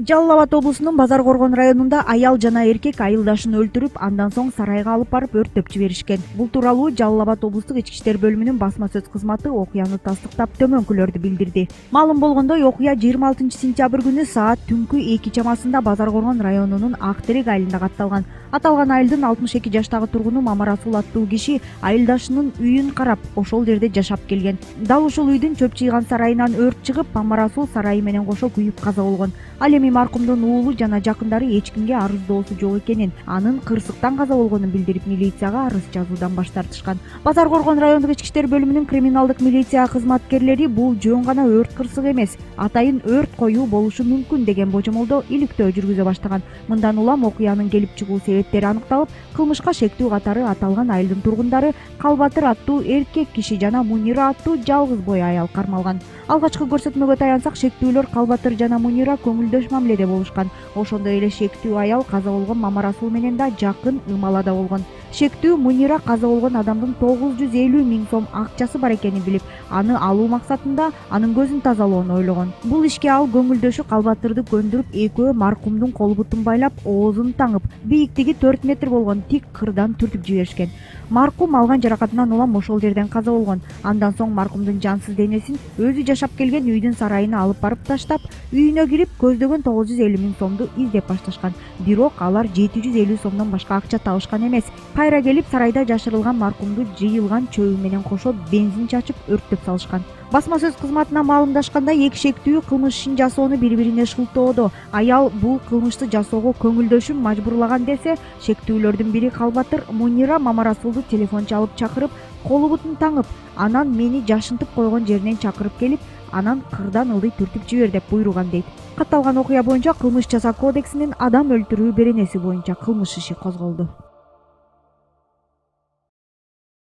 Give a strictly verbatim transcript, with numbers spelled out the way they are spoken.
Жалал Абад облусунун Базар Коргон районунда аял жана эркек айылдашын өлтүрүп, андан соң сарайга алып барып өрттөп жиберишкен. Бул тууралуу Жалал Абад облустук ички иштер бөлүмүнүн басма сөз кызматы окуяны тастыктап төмөнкүлөрдү билдирди. Маалым болгондой, окуя жыйырма алтынчы сентябрь күнү саат түнкү эки чамасында Базар Коргон районунун Ак Терек айылында катталган. Аталган айылдын алтымыш эки жаштагы тургуну Мамарасул аттуу киши айылдашынын үйүн карап, ошол жерде жашап келген. Дал ушул үйдүн чөп чыйган сарайынан өрт чыгып, Мамарасул сарайы менен кошо күйүп каза болгон. Ал эми маркумдун уулу жана жакындары эч кимге арыздоосу жок экенин, анын кырсыктан каза болгонун билдирип, милицияга арыз жазуудан баш тартышкан. Базар Коргон райондук ички иштер бөлүмүнүн криминалдык милиция кызматкерлери бул жөн гана өрт кырсыгы эмес, атайын өрт коюу болушу мүмкүн деген божомолдо иликтөө жүргүзө баштаган. Мындан улам окуянын келип чыгуу себептери аныкталып, кылмышка шектүү катары аталган айылдын тургундары Калбатыр аттуу эркек киши жана Мунира аттуу жалгыз бой аял кармалган. Алгачкы көрсөтмөгө таянсак, шектүүлөр Калбатыр жана Мунира көңүлдөш мамиледе болушкан. Ошондой эле шектүү аял каза болгон Мамарасул менен да жакын ымалада болгон. Шектүү Мунира каза болгон адамдын тогуз жүз элүү миң сом акчасы бар экенин билип, аны алуу максатында анын көзүн тазалоону ойлогон. Бул ишке ал көңүлдөшү Калбатырды көндүрүп, экөө маркумдун кол бутун байлап, оозун таңып, бийиктиги төрт метр болгон тик кырдан түртүп жиберишкен. Маркум алган жаракатынан улам ошол жерден каза болгон. Андан соң маркумдун жансыз денесин өзү жашап келген үйдүн сарайына алып барып таштап, үйүнө кирип көздөгөн тогуз жүз элүү миң сомду издеп башташкан. Бирок алар жети жүз элүү сомдон башка акча табышкан эмес. Кайра келип сарайда жашырылган маркумду жыйылган чөбү менен кошо бензин чачып өрттөп салышкан. Басма сөз кызматына маалымдашкандай, эки шектүү кылмыш ишин жасоону бири-бирине шылтоодо. Аял бул кылмышты жасоого көңүлдөшүн мажбурлаган десе, шектүүлөрдүн бири Калбатыр Мунира Мамарасулду телефон чалып чакырып, колу бутун таңып, анан мени жашынтып койгон жеринен чакырып келип, анан кырдан ылдый түртүп жибер деп буйруган дейт. Катталган окуя боюнча Кылмыш жаза кодексинин адам өлтүрүү беренеси боюнча кылмыш иши козголду.